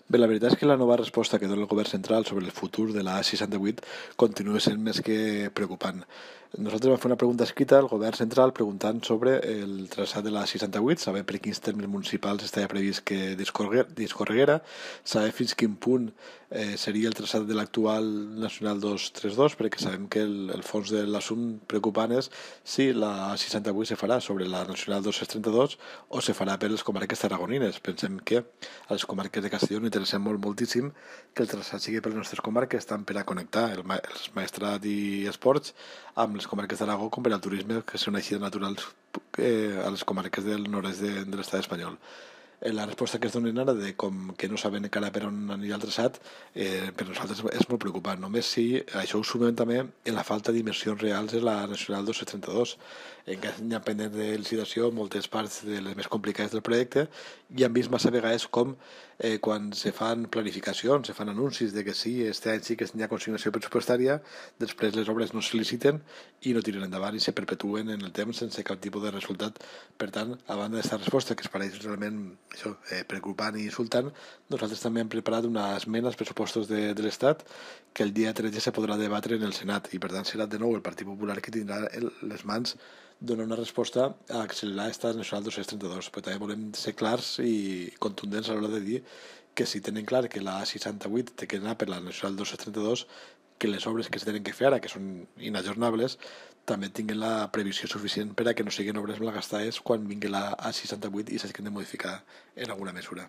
Bé, la veritat és que la nova resposta que dona el govern central sobre el futur de la A68 continua sent més que preocupant. Nosaltres vam fer una pregunta escrita al govern central preguntant sobre el traçat de la A68, saber per quins termes municipals estava previst que discorreguera, saber fins quin punt seria el traçat de l'actual Nacional 232, perquè sabem que el fons de l'assumpte preocupant és si la A68 se farà sobre la Nacional 232 o se farà per les comarques tarragonines. Pensem que a les comarques de Castelló no interessa moltíssim que el traçat sigui per les nostres comarques, tant per a connectar els maestrat i esports amb les comarques d'Aragó com per al turisme, que són eixides naturals a les comarques del nord-est de l'estat espanyol. La resposta que es donen ara de com que no saben encara per on anirà el traçat, per nosaltres és molt preocupant, només si això ho sumem també en la falta d'inversions reals en la Nacional 232. Encara n'hi ha pendent de licitació moltes parts de les més complicades del projecte i hem vist massa vegades com quan se fan planificacions, se fan anuncis de que sí, este any sí que hi ha consignació pressupostària, després les obres no se liciten i no tiren endavant i se perpetuen en el temps sense cap tipus de resultat. Per tant, a banda d'aquesta resposta que es pareix realment això, preocupant i insultant, nosaltres també hem preparat una esmena als pressupostos de l'Estat que el dia 13 se podrà debatre en el Senat i per tant serà de nou el Partit Popular que tindrà les mans donar una resposta a accelerar aquesta Nacional 232, però també volem ser clars i contundents a l'hora de dir que si tenen clar que la A68 té que anar per la Nacional 232, que les obres que es tenen que fer ara, que són inajornables, també tinguin la previsió suficient per a que no siguin obres malgastades quan vingui la A68 i s'hagin de modificar en alguna mesura.